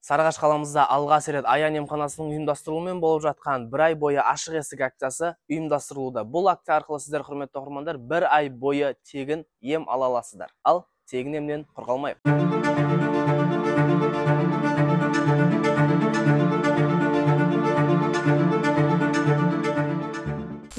Сарыағаш қаламызда алғаш рет Аян емханасының ұйымдастыруымен болып жатқан бір ай бойы ашық есік акциясы ұйымдастырылуда. Бұл акция арқылы сіздер, құрметті оқырмандар, бір ай бойы тегін ем ала аласыздар. Ал тегін емнен құр қалмайық.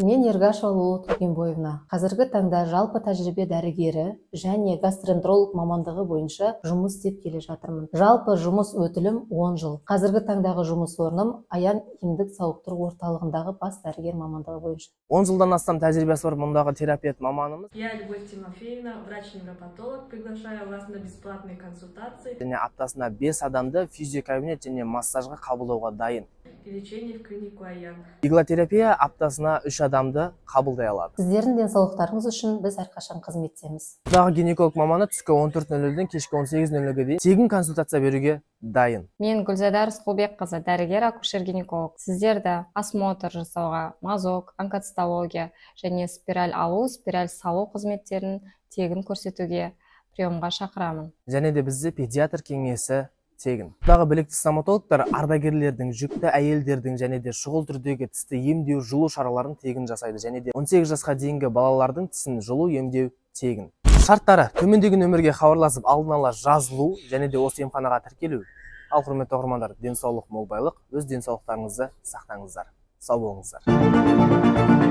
Мен Ергашева Лоло Тургенбоевна. Қазіргі таңда жалпы тәжірибе дәрігері және гастроэнтеролог мамандығы бойынша жұмыс істеп келе жатырмын. Жалпы жұмыс өтілім 10 жыл. Қазіргі таңдағы жұмыс орным Аян емдік сауықтыру орталығындағы бас дәрігер мамандығы бойынша. 10 жылдан астам тәжірибесі бар мұндағы терапевт маманымыз. Я Любовь Тимофеевна, врач-невропатолог, приглашаю вас на бесплатные консультации. Және аптасына 5 адамды физиокабинет және массажға қабылдауға дайын. И лечение в клинику Аян. Иглотерапия аптасына 3 адамды қабылдай алады. Сіздердің денсаулықтарыңыз үшін біз әрқашан қызметтеміз. Бұндағы гинеколог маманы түскі 14:00-ден кешкі 18:00-ге дейін тегін консультация беруге дайын. Мен Гүлзада Рысқұлбекқызы, дәрігер акушер-гинеколог. Сіздерді осмотр жасауға, мазок, онкоцитология және спираль алу, спираль салу қызметтерін тегін көрсетуге, приемға шақырамын. Және де бізде педиатр кеңесі тегін. Бұндағы білікті стоматологтар ардагерлердің, жүкті әйелдердің және де шұғыл түрдегі тісті емдеу, жылу шараларын тегін жасайды. Және де 18 жасқа дейінгі балалардың тісін жылу емдеу тегін. Шарттары: төмендегі нөмірге хабарласып алдын ала жазылу және де осы емханаға тіркелу. Ал құрметті оқырмандар, денсаулық мол байлық, өз денсаулықтарыңызды сақтаңыздар. Сау болыңыздар.